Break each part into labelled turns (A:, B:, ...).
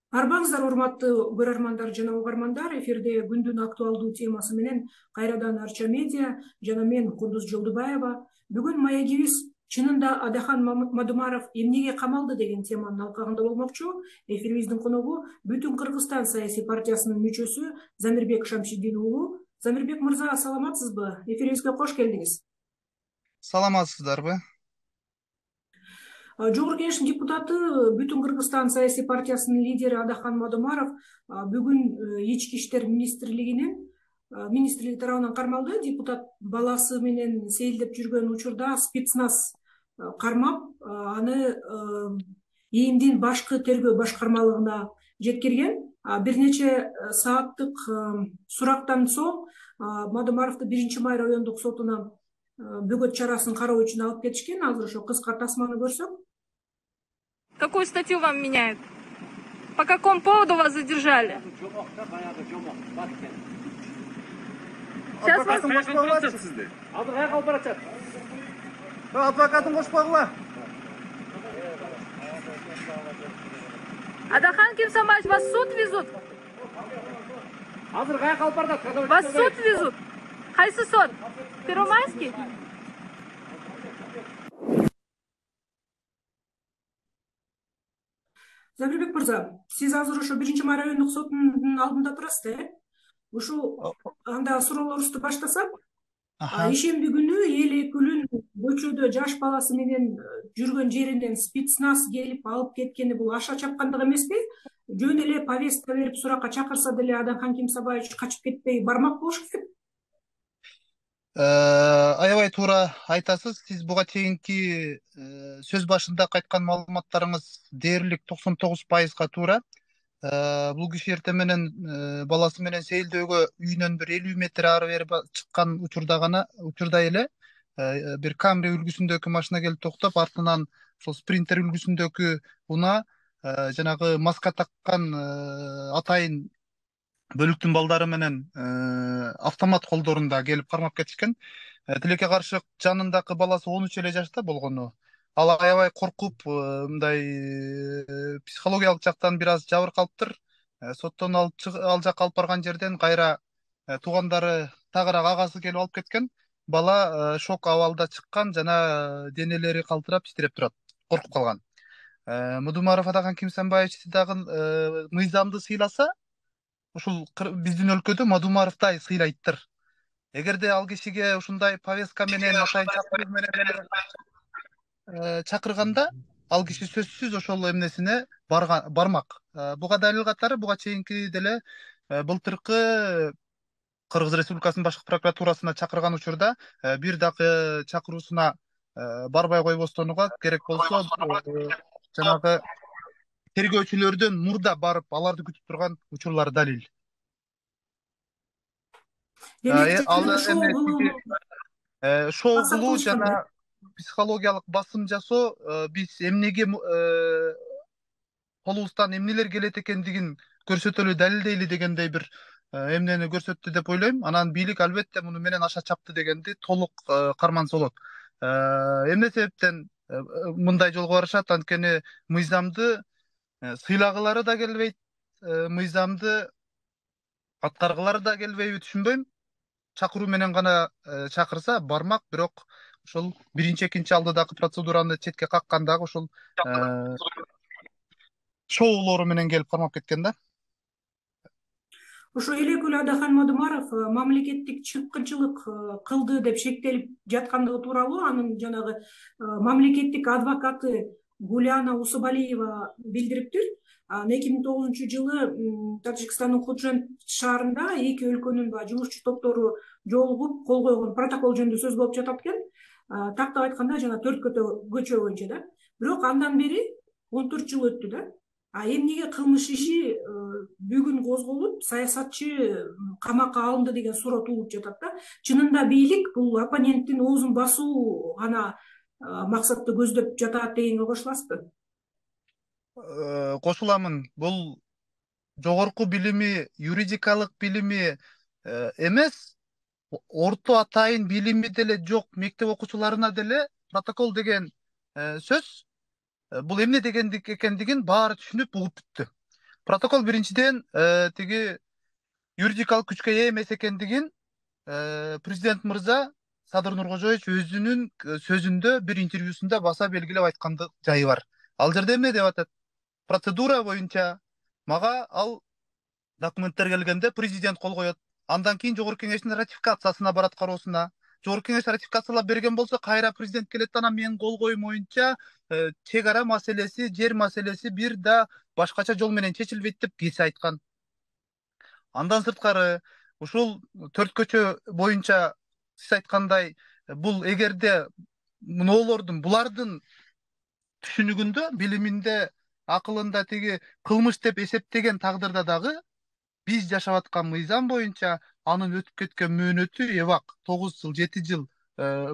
A: Арбаңыздар урматтуу көрөрмандар жана угармандар, эфирде күндүн актуалдуу темасы менен кайрадан Арча медиа жана мен Кундуз Жолдубаева. Бүгүн маегибиз чынында Адахан Мадумаров эмнеге камалды деген теманын алкагында болмокчу. Эфирибиздин коногу Бүтүн Кыргызстан саясий партиясынын мүчөсү Замирбек Шамшидин уулу. Замирбек мырза, саламатсызбы? Эфирибизге кош келдиңиз.
B: Саламатсыздарбы?
A: Жогорку Кеңештин депутаты, Бүтүн Кыргызстан саясий партиясынын лидери Адахан Мадумаров бүгүн ички иштер министрлиги тарабынан кармалды. Депутат баласы менен сейилдеп жүргөн учурда спецназ кармап, аны ИИМдин башкы тергөө башкармалыгына жеткирген. Бир нече сааттык сурактан соң Мадумаровду 1-Май райондук сотуна бөгөт чарасын кароо үчүн алып кетишкен. Азыр ошо кыска тасманы көрсөк.
C: Какую статью вам меняют? По какому поводу вас задержали? Сейчас вас...
B: Адвокатын кошпогула.
C: Адахан Кимсамаевич, вас в суд везут? Вас в суд везут? Кайсы суд? Первомайский?
A: Замирбек мырза, сиз азыр ошо 1-Май райондук сотунун алдында турасыз, Ушул анда суроолорубузду баштасак, ишемби күнү эл өкүлүн көчөдө жаш баласы менен жүргөн жеринен спецназ келип алып кеткени бул аша чапкандык эмеспи? Жөн эле повестка берип суракка чакырса деле Адахан Кимсамаевич качып кетпей бармак болуш керек.
B: Аябай туура айтасыз. Сиз буга чейинки сөз башында айткан маалыматтарыңыз дээрлик 99%га туура. Бул киши эртең менен баласы менен сейилдөөгө үйүнөн bir 50 метр ары бери чыккан учурда эле бир Камри үлгүсүндөгү машина келип токтоп, артынан ошол Спринтер үлгүсүндөгү унаа жанагы маска таккан атайын бөлүктүн балдары менен автомат колдорунда келип кармап кетишкен. Тилекке каршы жанындагы баласы 13 эле жашта болгону. Ал аябай коркуп, мындай психологиялык жактан бир аз жабыркалыптыр. Соттон ал жакка алып барган жерден кайра туугандары тагыраак агасы келип алып кеткен. Бала шок абалда чыккан жана денелери калтырап титиреп турат, коркуп калган. Мадумаров Адахан Кимсамаевич дагы мыйзамды сыйласа, ушул биздин өлкөдө Мадумаровдай сыйлайттыр. Эгерде ал кишиге ушундай повестка менен атайын чакыруу менен чакырганда, ал киши сөзсүз ошол эмнесине бармак. Буга далил катары буга чейинки деле былтыркы Кыргыз Республикасынын башкы прокуратурасына чакырган учурда бир дагы чакыруусуна барбай койбостонуга керек болсо жанагы тергөөчүлөрдөн мурда барып аларды күтүп турган учурлар далил. Шоу кылуу жана психологиялык басым жасоо биз эмнеге колубуздан эмнелер келет экендигин көрсөтөлү, далилдейли дегендей бир эмнени көрсөттү деп ойлойм. Анан бийлик албетте муну менен аша чапты дегенди толук карманса болот. Эмне себептен мындай жолго барышат? Анткени мыйзамды сыйлагылары да келбейт, мыйзамды аткаргылары да келбейби түшүнбөйм. Чакыруу менен гана чакырса бармак, бирок ошол биринчи, экинчи алдыдагы процедураны четке каккандагы ошол шоулору менен келип кармап кеткен да.
A: Ошо эл өкүлү Адахан Мадумаров мамлекеттик чыккынчылык кылды деп шектелип жаткандыгы тууралуу анын жанагы мамлекеттик адвокаты Гуляна Усубалиева билдириптир. 2009-жылы Тажикстандын Худжанд шаарында эки өлкөнүн жумушчу топтору жолугуп кол койгон протокол жөнүндө сөз болуп жатат экен. Тактап айтканда жана 4 көчө боюнча да. Бирок андан бери 14 жыл өттү да. Эмнеге кылмыш иши бүгүн козголуп, саясатчы камакка алынды деген суроо туулуп жатат да. Чынында бийлик бул оппоненттин оозун басуу гана максатты көздөп жатат дегенге кошуласызбы?
B: Кошуламын. Бул жогорку билими, юридикалык билими эмес, орто атайын билими деле жок мектеп окуучуларына деле протокол деген сөз бул эмне дегендик экендигин баары түшүнүп угуп бүттү. Протокол биринчиден тиги юридикалык күчкө ээ эмес экендигин президент мырза Садыр Нуркожоевич өзүнүн сөзүндө бир интервьюсунда баса белгилеп айткандык жайы бар. Ал жерде эмне деп атат? Процедура боюнча мага ал документтер келгенде президент кол коет. Андан кийин жогорку кеңештин ратификациясына барат, кароосуна. Жогорку кеңеш ратификациялап берген болсо, кайра президент келет, анан менин кол коюм боюнча чек ара маселеси, жер маселеси бир да башкача жол менен чечилбейт деп кесе айткан. Андан сырткары ушул төрт көчө боюнча сиз айткандай бул эгерде булардын түшүнүгүндө, билиминде, акылында тиги кылмыш деп эсептеген тагдырда дагы биз жашап аткан мыйзам боюнча анын өтүп кеткен мөөнөтү эбак 9 жыл, 7 жыл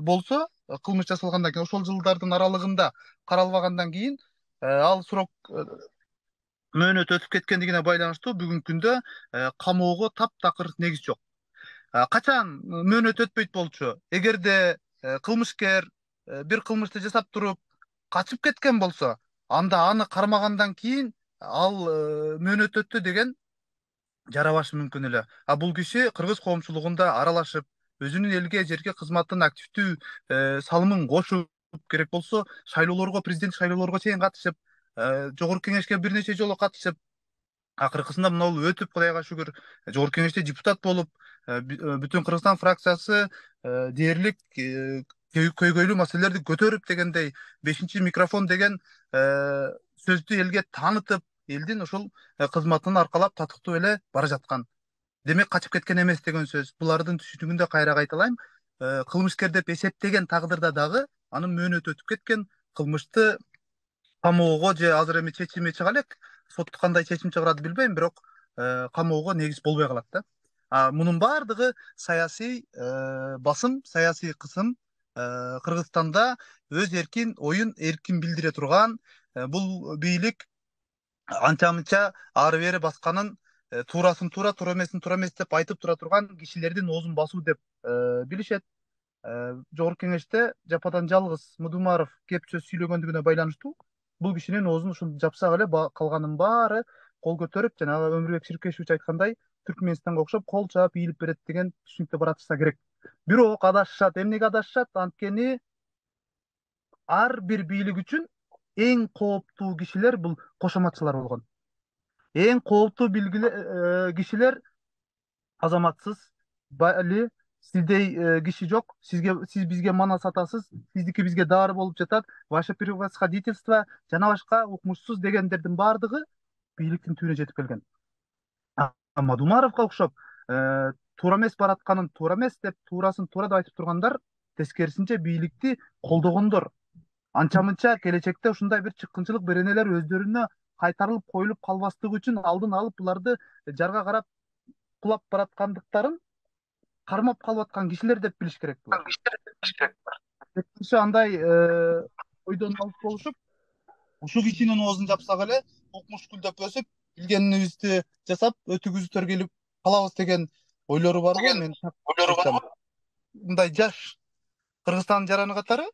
B: болсо, кылмыш жасалгандан кийин ошол жылдардын аралыгында каралбагандан кийин ал срок мөөнөт өтүп кеткендигине байланыштуу бүгүнкү күндө камоого таптакыр негиз жок. Качан мөөнөт өтпөйт болчу? Эгерде кылмышкер бир кылмышты жасап туруп качып кеткен болсо, анда аны кармагандан кийин ал мөөнөт өттү деген жарабашы мүмкүн эле. Бул киши кыргыз коомчулугунда аралашып, өзүнүн элге, жерге кызматтын активдүү салымын кошуп, керек болсо шайлоолорго, президент шайлоолорго чейин катышып, жогорку кеңешке бир нече жолу катышып, акыркысында мына бул өтүп, Кудайга шүгүр, жогорку кеңеште депутат болуп, бүтүн Кыргызстан фракциясы дээрлик көйгөйлүү маселелерди көтөрүп дегендей 5 микрофон деген сөздү элге таанытып, элдин ушул кызматын аркалап татыктуу эле бара жаткан. Демек качып кеткен эмес деген сөз. Булардын түшүнүгүндө кайра кайталайм, кылмышкер деп эсептеген тагдырда дагы анын мөөнөтү өтүп кеткен, кылмышты камоого же азыр эми чечими чыга элек, сот кандай чечим чыгарат билбейм, бирок камоого негиз болбой калат да. Мунун баардыгы саясий басым, саясий кысым, Кыргызстанда өз эркин оюн эркин билдире турган бул бийлик анча-мынча ары бери басканын туурасын туура, туура эмесин туура эмес деп айтып тура турган кишилердин оозун басуу деп билишет. Жогорку кеңеште жападан жалгыз Мудумаров кеп сөз сүйлөгөндүгүнө байланыштуу бул кишинин оозун ушул жапсак эле калганын баары кол көтөрүп, жанагы Өмүрбек Ширкешевич айткандай, Түркмөнстанга окшоп кол чаап ийилип берет деген түшүнүктө баратышса керек. Бирок адашышат. Эмнеге адашышат? Анткени ар бир бийлик үчүн эң кооптуу кишилер бул кошоматчылар болгон. Эң кооптуу кишилер азаматсыз, бали, сиздей киши жок, сиз бизге мана сатасыз, сиздики бизге дары болуп жатат, ваше превосходительство, жана башка укмушсуз дегендердин баардыгы бийликтин түбүнө жетип келген. Мадумаровго окшоп туура эмес баратканын туура эмес деп, туурасын туура деп айтып тургандар тескерисинче бийликти колдогондор. Анча-мынча келечекте ушундай бир чыккынчылык беренелер өздөрүнө кайтарылып коюлуп калбастыгы үчүн алдын алып буларды жарга карап кулап бараткандыктарын кармап калып аткан кишилер деп билиш керек булар. Андай ойдон алып болушуп, ушул кишинин оозун жапсак эле укмуш гүлдөп өсүп, билгенибизди жасап, өтүгүбүздөр келип калабыз деген ойлору барбы? Мен мындай жаш Кыргызстандын жараны катары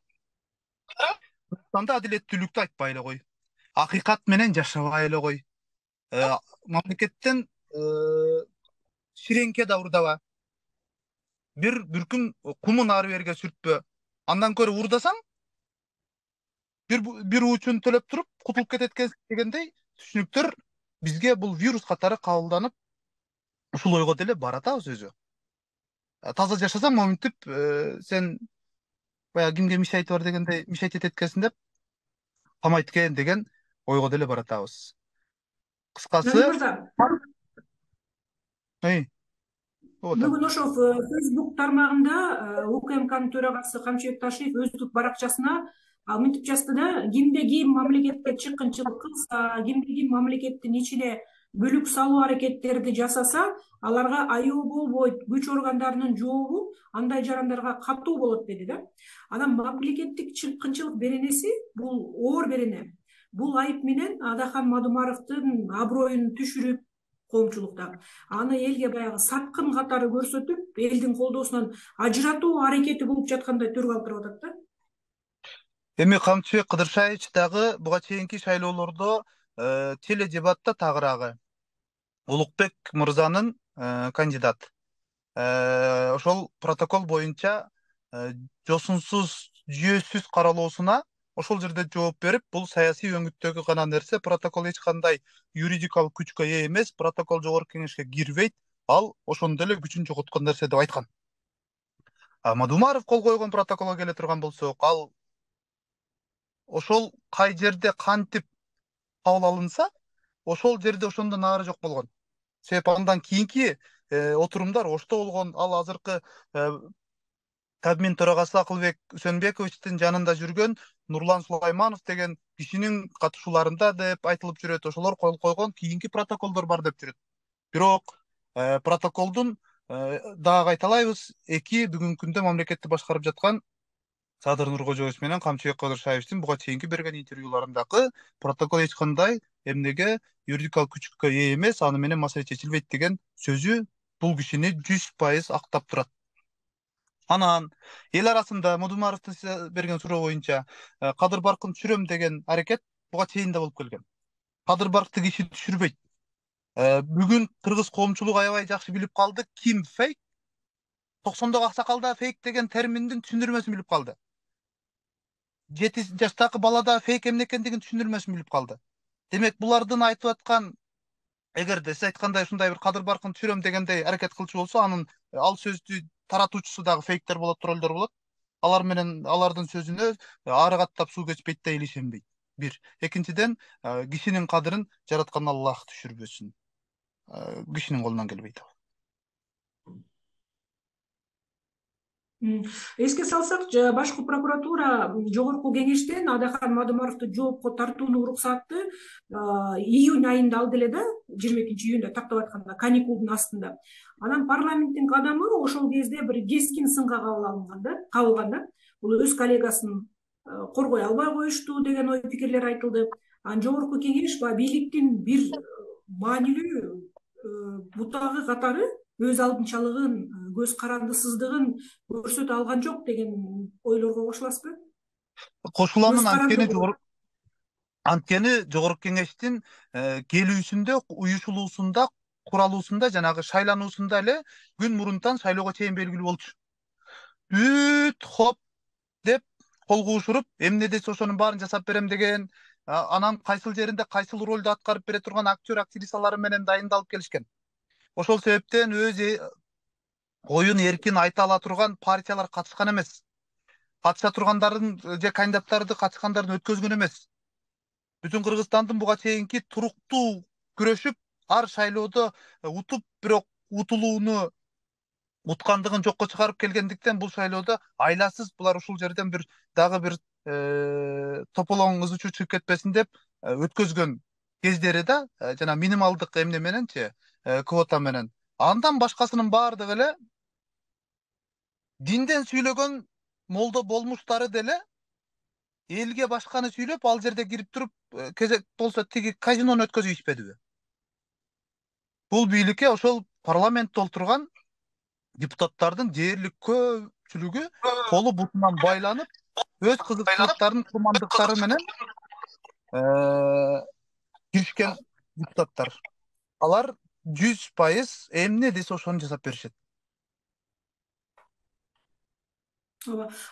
B: Кыргызстанда адилеттүүлүктү айтпай эле кой, акыйкат менен жашабай эле кой, мамлекеттен ширеңке да урдаба, бир бүркүм кумун ары бериге сүртпө, андан көрө урдасаң бир уучун төлөп туруп кутулуп кетет дегендей түшүнүктөр бизге бул вирус катары кабылданып, ушул ойго деле баратабыз өзү. Таза жашасаң, моминтип сен баягы кимге мишайты бар дегендей мишайт этет экенсиң деп камайт экен деген ойго деле баратабыз. Кыскасы,
A: бүгүн ошо Facebook тармагында УКМКнын төрагасы Камчыбек Ташиев өздүк баракчасына мынтип жазды да: кимде ким мамлекетке чыккынчылык кылса, кимде ким мамлекеттин ичине бүлүк салуу аракеттерди жасаса, аларга аяоо болбойт, күч органдарынын жообу андай жарандарга катуу болот деди да. Анан мамлекеттик чыккынчылык беренеси бул оор берене. Бул айып менен Адахан Мадумаровдун аброюн түшүрүп, коомчулукта аны элге баягы саткын катары көрсөтүп, элдин колдоосунан ажыратуу аракети болуп жаткандай түргө алып туруп атат да.
B: Эми Камчыбек Кыдыршаевич дагы буга чейинки шайлоолордо теледебатта тагыраагы Улукбек мырзанын кандидат. Ошол протокол боюнча жосунсуз, жүйөсүз каралоосуна ошол жерде жооп берип, бул саясий өңүттөгү гана нерсе, протокол эч кандай юридикалык күчкө ээ эмес, протокол жогорку кеңешке кирбейт, ал ошондо эле күчүн жоготкон нерсе деп айткан. Мадумаров кол койгон протоколго келе турган болсок, ал ошол кай жерде кантип кабыл алынса, ошол жерде ошондон нары жок болгон. Себеп андан кийинки отурумдар ошто болгон. Ал азыркы Кабмин төрагасы Акылбек Үсөнбековичтин жанында жүргөн Нурлан Сулайманов деген кишинин катышууларында деп айтылып жүрөт. Ошолор кол койгон кийинки протоколдор бар деп жүрөт. Бирок протоколдун дагы кайталайбыз, эки бүгүнкү күндө мамлекетти башкарып жаткан Садыр Нуркожоевич менен Камчыбек Кадыршаевичтин буга чейинки берген интервьюларындагы протокол эч кандай эмнеге юридикалык күчкө ээ эмес, аны менен маселе чечилбейт деген сөзү бул кишини 100% актап турат. Анан эл арасында Мадумаровдун берген суроо боюнча Кадыр Баркын түшүрөм деген аракет буга чейин да болуп келген. Кадыр Баркты киши түшүрбөйт. Бүгүн кыргыз коомчулугу аябай жакшы билип калды, ким фейк, 90догу аксакал да фейк деген терминдин түшүндүрмөсүн билип калды. 7 жаштагы бала да фейк эмне экендигин түшүндүрмөсүн билип калды. Демек булардын айтып аткан, эгерде сиз айткандай ушундай бир Кадыр Баркын түшүрөм дегендей аракет кылчу болсо, анын ал сөздү таратуучусу дагы фейктер болот, троллдор болот. Алар менен алардын сөзүнө ары каттап суу кечпейт да эл ишенбейт. Бир. Экинчиден, кишинин кадырын жараткан Аллах түшүрбөсүн. Кишинин колунан келбейт.
A: Эске салсак, башкы прокуратура жогорку кеңештен Адахан Мадумаровду жоопко тартууну уруксатты июнь айында алды эле да, 22-июнда тактап айтканда, каникулдун астында. Анан парламенттин кадамы ошол кезде бир кескин сынга кабылган да. Бул өз коллегасын коргой албай коюшту деген ой пикирлер айтылды. Анан жогорку кеңеш бийликтин бир маанилүү бутагы катары өз алдынчалыгын, көз карандысыздыгын көрсөтө алган жок деген ойлорго кошуласызбы?
B: Кошуламын. Анткени жогорку кеңештин келүүсүндө, уюшулуусунда, куралуусунда, жанагы шайлануусунда эле күн мурунтан шайлоого чейин белгилүү болчу. Бүт хоп деп кол куушуруп, эмне десе ошонун баарын жасап берем деген, анан кайсыл жеринде кайсыл ролду аткарып бере турган актер, актрисалары менен дайындалып келишкен. Ошол себептен өз оюн эркин айта ала турган партиялар катышкан эмес. Катыша тургандардын же кандидаттарды катышкандардын өткөзгөн эмес. Бүтүн Кыргызстандын буга чейинки туруктуу күрөшүп, ар шайлоодо утуп, бирок утулууну уткандыгын жокко чыгарып келгендиктен бул шайлоодо айласыз булар ушул жерден дагы бир тополоң ыз учу чыгып кетпесин деп өткөзгөн кездери да, жана минималдык эмне мененчи, квота менен. Андан башкасынын баардыгы эле динден сүйлөгөн молдо болмуштары деле элге башканы сүйлөп, ал жерде кирип туруп, кезек болсо тиги казинону өткөзүп ичпедиби? Бул бийликке ошол парламентте отурган депутаттардын дээрлик көпчүлүгү колу бутунан байланып, өз кызыкчылыктарын, курмандыктары менен киришкен депутаттар. Алар 100% эмне десе ошону жасап беришет.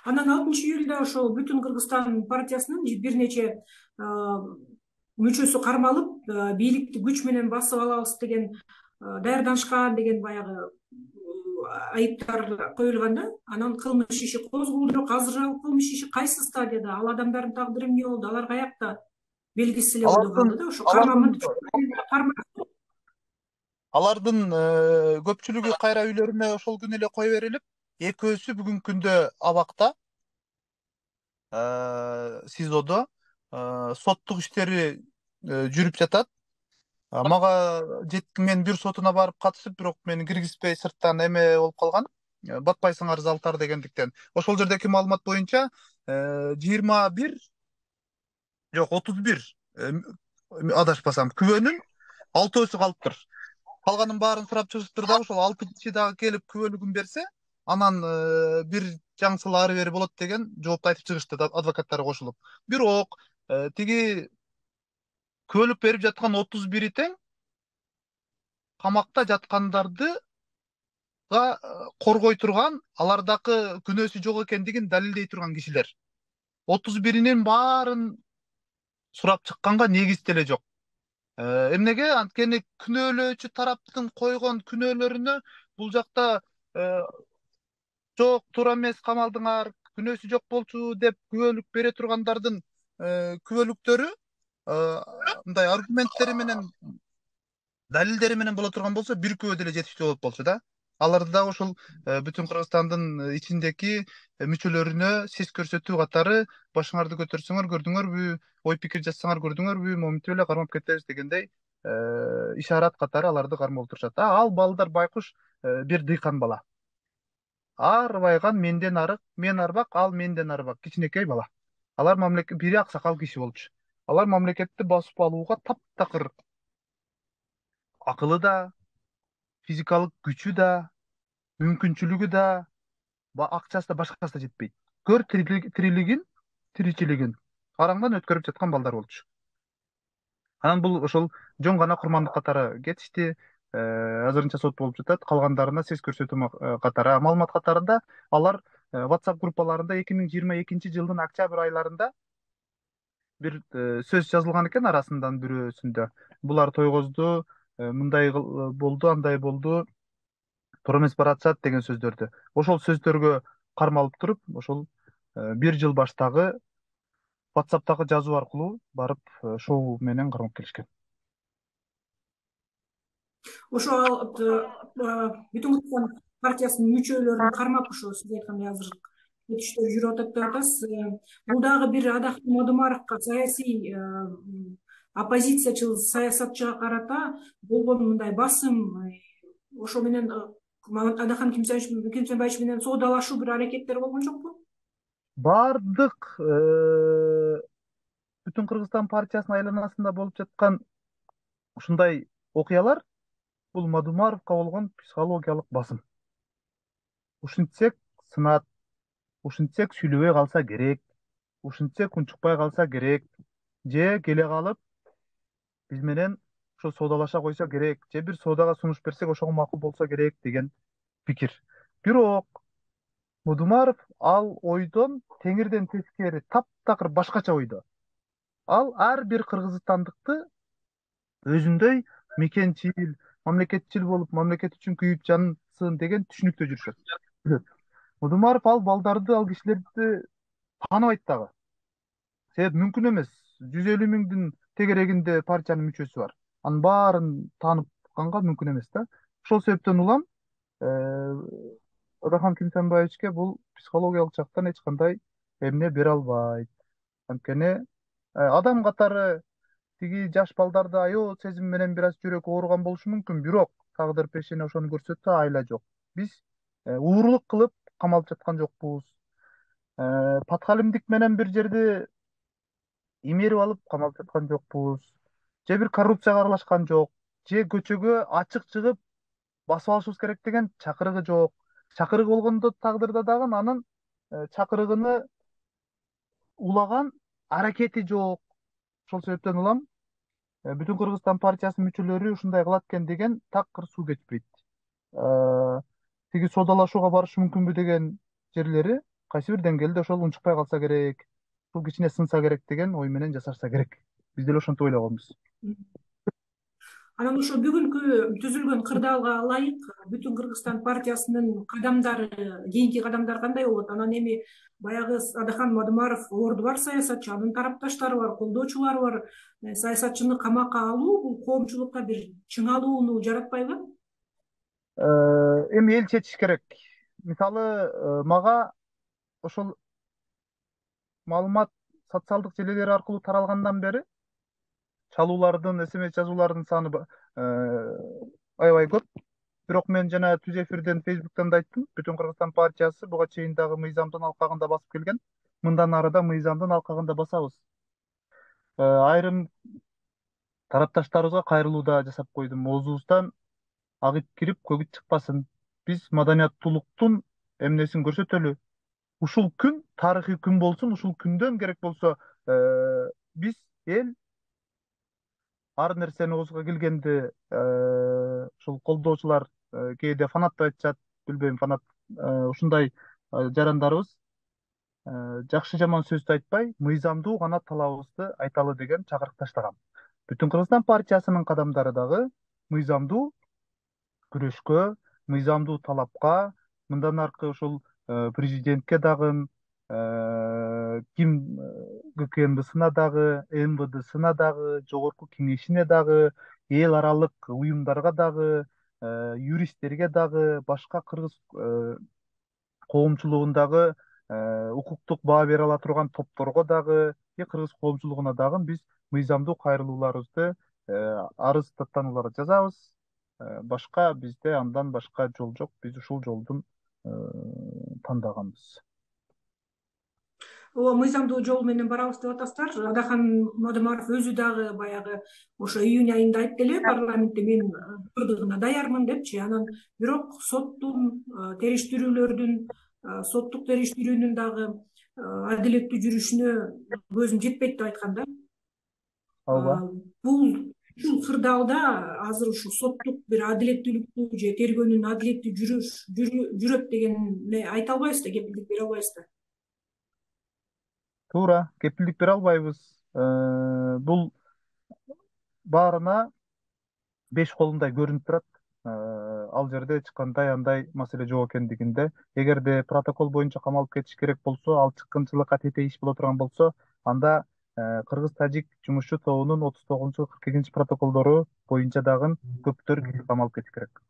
A: Анан 6-июлда ошол Бүтүн Кыргызстан партиясынын бир нече мүчөсү кармалып, бийликти күч менен басып алабыз деген даярданышкан деген баягы айыптар коюлган да. Анан кылмыш иши козголду, бирок азыр ал кылмыш иши кайсы стадияда, ал адамдардын тагдыры эмне болду, алар каякта, белгисиз эле ойдо калды да. Ошо
B: алардын көпчүлүгү кайра үйлөрүнө ошол күнү эле кое берилип, экөөсү бүгүнкү күндө абакта, СИЗОдо соттук иштери жүрүп жатат. Мага мен бир сотуна барып катышып, бирок мени киргизбей сырттан эме болуп калган. Батпайсыңар Залтар дегендиктен. Ошол жердеги маалымат боюнча 21, жок 31, адашпасам, күбөнүн 6-өсү калыптыр. Калганын баарын сурап чыгышыптыр дагы, ошол 6 киши дагы келип күбөлүгүн берсе, анан бир жаңсыл ары бери болот деген жоопту айтып чыгышты, адвокаттары кошулуп. Бирок тиги күбөлүк берип жаткан 31-и тең камакта жаткандарды коргой турган, алардагы күнөөсү жок экендигин далилдей турган кишилер. 31-инин баарын сурап чыкканга негиз деле жок. Эмнеге? Анткени күнөөлөөчү тараптын койгон күнөөлөрүнө бул жакта жок, туура эмес, камалдыңар, күнөөсү жок болчу деп күбөлүк бере тургандардын күбөлүктөрү мындай аргументтери менен, далилдери менен боло турган болсо, бир күбө деле жетиштүү болот болчу да. Аларды дагы ошол бүтүн Кыргызстандын ичиндеки мүчөлөрүнө сес көрсөтүү катары башыңарды көтөрсөңөр көрдүңөрбү, ой пикир жазсаңар көрдүңөрбү, моминтип эле кармап кетебиз дегендей ишарат катары аларды кармап отурушат. Ал балдар байкуш бир дыйкан бала. Арбайган менден арык, мен арбак, ал менден арбак, кичинекей бала. Алар бири аксакал киши болчу. Алар мамлекетти басып алууга таптакыр акылы да, физикалык күчү да, мүмкүнчүлүгү да, акчасы да, башкасы да жетпейт. Көр тиричилигин караңдан өткөрүп жаткан балдар болчу. Анан бул ошол жөн гана курмандык катары кетишти. Азырынча сот болуп жатат. Калгандарына сес көрсөтүү катары, маалымат катарында алар WhatsApp группаларында 2022-жылдын октябрь айларында бир сөз жазылган экен арасынан бирөөсүндө. Булар тойгозду, мындай болду, андай болду, туура эмес баратышат деген сөздөрдү. Ошол сөздөргө кармалып туруп, ошол бир жыл баштагы WhatsApp'тагы жазуу аркылуу барып шоу менен кармап келишкен.
A: Ошо бүтүн Кыргызстан партиясынын мүчөлөрүн кармап, ошо сиз айткандай азыр кетиштер жүрүп атат деп атасыз. Бул дагы бир Адахтын Мадумаровго, саясий оппозициячыл саясатчыга карата болгон мындай басым, ошо менен Адахан Кимсенбаевич менен соодалашуу бир аракеттер болгон жокпу?
B: Бардык бүтүн Кыргызстан партиясынын айланасында болуп жаткан ушундай окуялар бул Мадумаровго болгон психологиялык басым. Ушинтсек сынат, ушинтсек сүйлөбөй калса керек, ушинтсек унчукпай калса керек, же келе калып биз менен ошо соодалаша койсо керек, же бир соодага сунуш берсек ошого макул болсо керек деген пикир. Бирок Мадумаров ал ойдон теңирден тескери таптакыр башкача ойдо. Ал ар бир кыргызстандыкты өзүндөй мекенчил, мамлекетчил болуп, мамлекет үчүн күйүп жансын деген түшүнүктө жүрүшөт. Мадумаров ал балдарды, ал кишилерди тааныбайт дагы. Себеп мүмкүн эмес. 150 миңдин тегерегинде партиянын мүчөсү бар. Анын баарын таанып канга мүмкүн эмес да. Ошол себептен улам Адахан Кимсенбаевичке бул психологиялык жактан эч кандай эмне бере албайт. Анткени адам катары тиги жаш балдарда аябай сезим менен бир аз жүрөк ооруган болушу мүмкүн, бирок тагдыр пешене ошону көрсөттү, айла жок. Биз уурулук кылып камалып жаткан жокпуз. Подхалимдик менен бир жерди имерип алып камалып жаткан жокпуз. Же бир коррупцияга аралашкан жок, же көчөгө ачык чыгып басып алышыбыз керек деген чакырыгы жок. Чакырыгы болгондо тагдырда дагы анын чакырыгыны улаган аракети жок. Ошол себептен улам бүтүн Кыргызстан партиясынын мүчөлөрү ушундай кылат экен деген такыр суу кетпейт. Тиги соодалашууга барышы мүмкүнбү деген жерлери кайсы бир деңгээлде ошол унчукпай калса керек, бул кичине сынса керек деген ой менен жасашса керек. Биз деле ошентип ойлогонбуз.
A: Анан ошо бүгүнкү түзүлгөн кырдаалга ылайык бүтүн Кыргызстан партиясынын кадамдары, кийинки кадамдары кандай болот? Анан эми баягы Адахан Мадумаров орду бар саясатчы, анын тарапташтары бар, колдоочулары бар. Саясатчыны камакка алуу бул коомчулукка бир чыңалууну жаратпайбы?
B: Эми эл чечиш керек. Мисалы, мага ошол маалымат социалдык желелер аркылуу таралгандан бери чалуулардын, СМС жазуулардын саны аябай көп. Бирок мен жана түз эфирден, Facebook'тан да айттым, бүтүн Кыргызстан партиясы буга чейин дагы мыйзамдын алкагында басып келген. Мындан ары да мыйзамдын алкагында басабыз. Айрым тарапташтарыбызга кайрылуу да жасап койдум. Оозубуздан агып кирип көгүт чыкпасын. Биз маданияттуулуктун эмнесин көрсөтөлү. Ушул күн тарыхый күн болсун, ушул күндөн керек болсо биз эл ар нерсени оозго келгенде ошо ушул колдоочулар кээде фанат деп айтышат, билбейм, фанат ушундай жарандарыбыз жакшы жаман сөздү айтпай, мыйзамдуу гана талабыбызды айталы деген чакырык таштаган. Бүтүн Кыргызстан партиясынын кадамдары дагы мыйзамдуу күрөшкө, мыйзамдуу талапка, мындан аркы ушул президентке дагы, ким ГКМБсына дагы, МВДсына дагы, жогорку кеңешине дагы, эл аралык уюмдарга дагы, юристтерге дагы, башка кыргыз коомчулугундагы укуктук баа бере ала турган топторго дагы, кыргыз коомчулугуна дагы биз мыйзамдуу кайрылууларыбызды, арыз даттанууларды жазабыз. Башка бизде андан башка жол жок. Биз ушул жолдун тандаганбыз.
A: Ооба, мыйзамдуу жол менен барабыз деп атасыздар. Адахан Мадымаров өзү дагы баягы ошо июнь айында айтты эле парламентте, мен ырдыгына даярмын депчи. Анан бирок соттун териштирүүлөрдүн, соттук териштирүүнүн дагы адилеттүү жүрүшүнө көзүм жетпейт деп айткан да.
B: Ооба.
A: Бул ушул кырдаалда азыр ушул соттук бир адилеттүүлүктү же тергөөнүн адилеттүү жүрөт деген айта албайбыз да, кепилдик бере албайбыз да.
B: Туура, кепилдик бере албайбыз. Бул баарына 5 колундай көрүнүп турат. Ал жерде эч кандай андай маселе жок экендигинде. Эгерде протокол боюнча камалып кетиш керек болсо, ал чыккынчылыкка тете иш боло турган болсо, анда Кыргыз-Тажик жумушчу тобунун 39-42 протоколдору боюнча дагы көптөр камалып кетиш керек.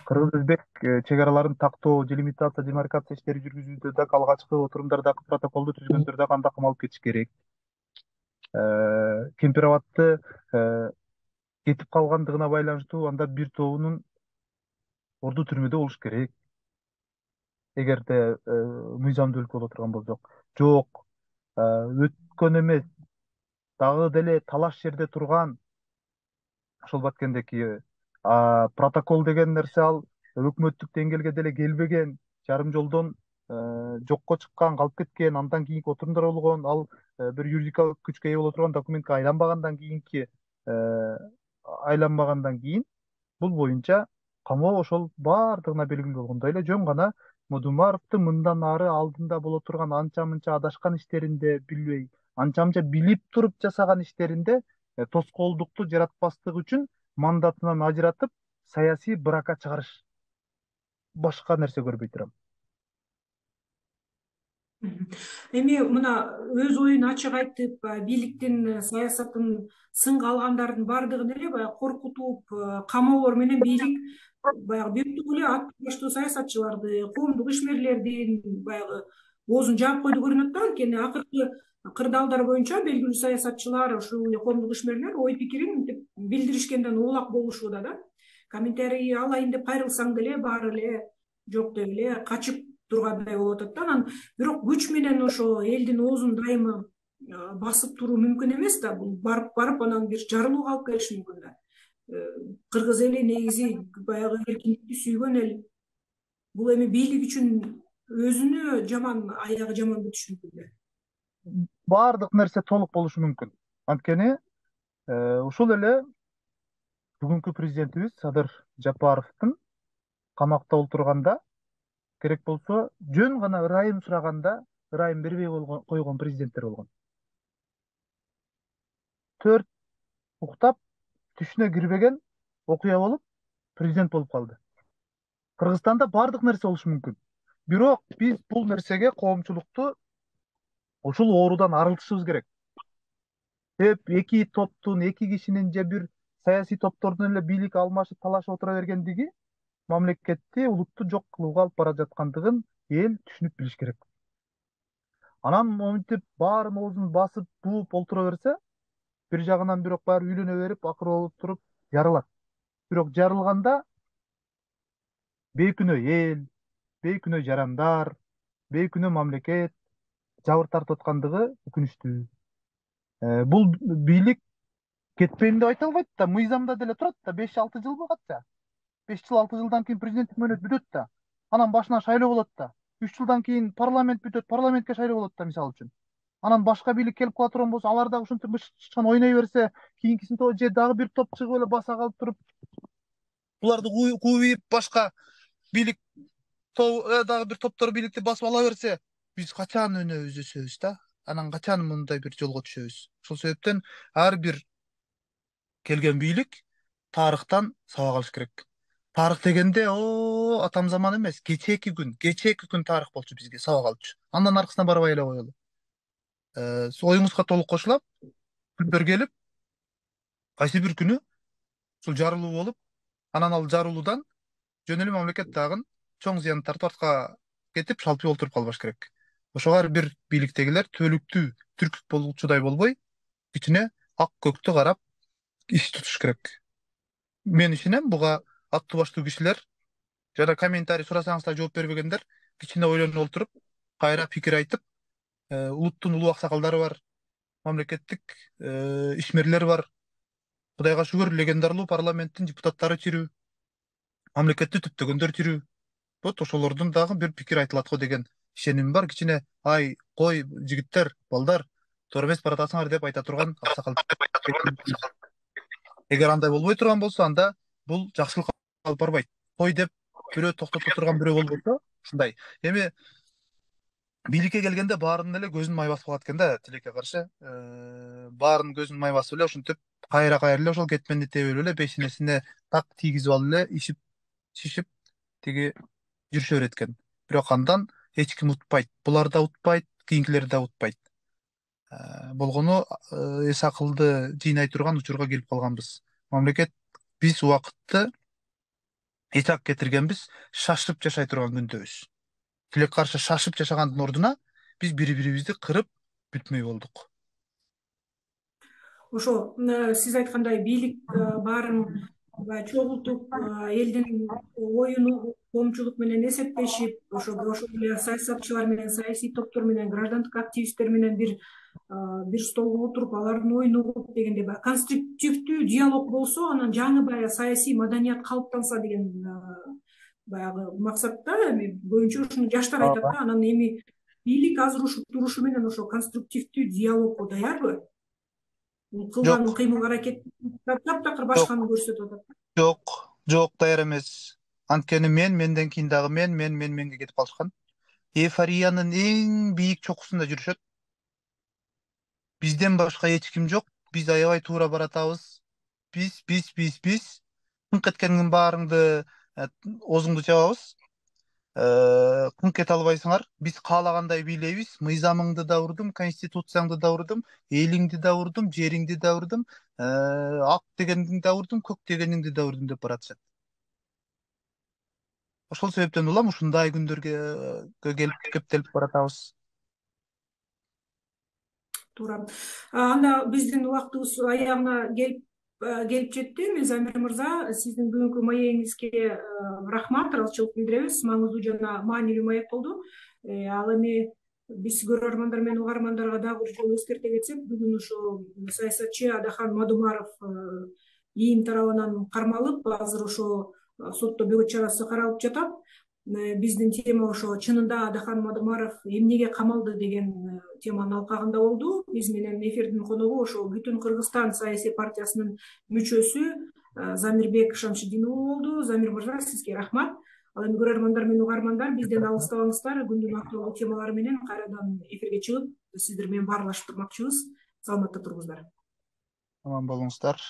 B: Кыргыз-өзбек чек араларын тактоо, делимитация, демаркация иштери жүргүзүүдө дагы алгачкы отурумдардагы протоколду түзгөндөр дагы анда камалып кетиш керек. Кемпир Абадты кетип калгандыгына байланыштуу анда бир тобунун орду түрмөдө болуш керек. Эгерде мыйзамдуу өлкө боло турган болсок. Жок, өткөн эмес, дагы деле талаш жерде турган ошол баткендеки протокол деген нерсе, ал өкмөттүк деңгээлге деле келбеген, жарым жолдон жокко чыккан, калып кеткен, андан кийинки отурумдар болгон, ал бир юридикалык күчкө ээ боло турган документке айланбагандан кийин бул боюнча камоо ошол баардыгына белгилүү болгондой эле жөн гана Мадымаровдун мындан ары алдында боло турган анча мынча адашкан иштеринде, билбей, анча мынча билип туруп жасаган иштеринде тоскоолдукту жаратпастык үчүн мандатынан ажыратып, саясий брака чыгарыш. Башка нерсе көрбөй турам.
A: Эми мына өз оюн ачык айтып, бийликтин, саясаттын сынга алгандардын баардыгын эле баягы коркутуп, камоолор менен бийлик баягы бир эле ат баштуу саясатчыларды, коомдук ишмерлердин баягы оозун жаап койду көрүнөт да. Анткени акыркы кырдаалдар боюнча белгилүү саясатчылар, ушул эле коомдук ишмерлер ой пикирин билдиришкенден улак болушууда да. Комментарий алайын деп кайрылсаң деле баары эле жок деп эле качып тургандай болуп атат да. Анан бирок күч менен ошо элдин оозун дайыма басып туруу мүмкүн эмес да. Бул барып анан бир жарылууга алып келиши мүмкүн да. Кыргыз эли негизи баягы эркиндикти сүйгөн эл. Бул эми бийлик үчүн өзүнө жаман, аягы жаман бүтүшү мүмкүн да.
B: Баардык нерсе толук болушу мүмкүн. Анткени ушул эле бүгүнкү президентибиз Садыр Жапаровдун камакта отурганда, керек болсо жөн гана ырайым сураганда ырайым бербей койгон президенттер болгон. 4 уктап түшүнө кирбеген окуя болуп президент болуп калды. Кыргызстанда баардык нерсе болушу мүмкүн. Бирок биз бул нерсеге, коомчулукту ушул оорудан арылтышыбыз керек. Эки топтун, эки кишинин же бир саясий топтордун эле бийлик алмашып, талашып отура бергендиги мамлекетти, улутту жок кылууга алып бара жаткандыгын эл түшүнүп билиш керек. Анан монтип баарын оозун басып, бууп олтура берсе, бир жагынан бирок баары үйлөнө берип, акыр болуп туруп жарылат. Бирок жарылганда бейкүнөө эл, бейкүнөө жарандар, бейкүнөө мамлекет жабыр тартып аткандыгы өкүнүчтүү. Бул бийлик кетпейм деп айта албайт да, мыйзамда деле турат да, 5-6 жыл катча. 5 жыл, 6 жылдан кийин президенттик мөөнөт бүтөт да. Анан башынан шайлоо болот да. 3 жылдан кийин парламент бүтөт, парламентке шайлоо болот да, мисалы үчүн. Анан башка бийлик келип кала турган болсо, алар дагы ушинтип мыш ойной берсе, кийинкисинде же дагы бир топ чыгып эле баса калып туруп буларды кууйуп башка бийлик дагы бир топтор бийликти басып ала берсе, биз качан өнөбүз өсөбүз да? Анан качан мындай бир жолго түшөбүз? Ошол себептен ар бир келген бийлик тарыхтан сабак алыш керек. Тарых дегенде атам заман эмес, кечээки күн тарых болчу бизге сабак алчу. Андан аркысына барбай эле коелу. Оюңузга толук кошулам. Күндөр келип, кайсы бир күнү ушул жарылуу болуп, анан ал жарылуудан жөн эле мамлекет дагы чоң зыян тартып артка кетип, шалпый олтуруп калбаш керек. Ошого ар бир бийликтегилер төлүктүү түркүк болчудай болбой, ичине ак көктү карап иш тутуш керек. Мен ишенем, буга аттуу баштуу кишилер жана комментарий сурасаңыздар жооп бербегендер кичине ойлонуп олтуруп, кайра пикир айтып, улуттун улуу аксакалдары бар, мамлекеттик ишмерлер бар. Кудайга шүгүр, легендарлуу парламенттин депутаттары тирүү, мамлекетти түптөгөндөр тирүү. Вот ошолордун дагы бир пикир айтылат го деген ишенимим бар. Кичине ай, кой, жигиттер, балдар, туура эмес баратасыңар деп айта турган аксакалдар. Эгер андай болбой турган болсо, анда бул жакшылыкка алып барбайт. Кой деп бирөө токтото турган бирөө болбосо, ушундай. Эми бийликке келгенде баарынын эле көзүн май басып калат экен да, тилекке каршы. Баарынын көзүн май басып эле ушинтип кайра эле ошол кетменди тебелеп эле бешинесине так тийгизип алып эле ишип, шишип тиги жүрүшө берет экен. Бирок андан эч ким утпайт. Булар да утпайт, кийинкилер да утпайт. Болгону эс акылды жыйнай турган учурга келип калганбыз. Мамлекет биз убакытты эч ак кетиргенбиз, шашып жашай турган күндөбүз. Тилекке каршы шашып жашагандын ордуна биз бири-бирибизди кырып бүтмөй болдук.
A: Ошо сиз айткандай бийлик баарын чогултуп, элдин оюн коомчулук менен эсептешип, ошол эле саясатчылар менен, саясий топтор менен, граждандык активисттер менен бир столго отуруп, алардын оюн угуп дегенде баягы конструктивдүү диалог болсо, анан жаңы баягы саясий маданият калыптанса деген баягы максатта эми көбүнчө ушуну жаштар айтат да. Анан эми бийлик азыр ушул турушу менен ошо конструктивдүү диалогго даярбы? Кылган кыймыл аракет таптакыр башканы көрсөтүп атат.
B: Жок, даяр эмес. Анткени менден кийин дагы менге кетип калышкан. Эйфориянын эң бийик чокусунда жүрүшөт. Бизден башка эч ким жок. Биз аябай туура баратабыз. Биз кыңк эткениңдин баарыңды оозуңду чабабыз. Кыңк эте албайсыңар. Биз каалагандай бийлейбиз. Мыйзамыңды да урдум, конституцияңды да урдум, элиңди да урдум, жериңди да урдум, ак дегениңди да урдум, көк дегениңди да урдум деп баратышат. Ошол себептен улам ушундай күндөргө келип кептелип баратабыз.
A: Туура. Анда биздин убактыбыз аягына келип жетти. Эми Замир мырза, сиздин бүгүнкү маегиңизге рахмат, ыраазычылык билдиребиз. Маңыздуу жана маанилүү маек болду. Ал эми биз көрөрмандар менен угармандарга дагы бир жолу эскерте кетсек, бүгүн ошо саясатчы Адахан Мадумаров ИИМ тарабынан кармалып, азыр ошо сотто бөгөт чарасы каралып жатат. Биздин тема ошо чынында Адахан Мадумаров эмнеге камалды деген теманын алкагында болду. Биз менен эфирдин коногу ошо Бүтүн Кыргызстан саясий партиясынын мүчөсү Замирбек Шамшидинов болду. Замир мырза, сизге рахмат. Ал эми көрөрмандар менен угармандар, бизден алыстабаңыздар. Күндүн актуалдуу темалары менен кайрадан эфирге чыгып, сиздер менен баарлашып турмакчыбыз. Саламатта туруңуздар.
B: Аман болуңуздар.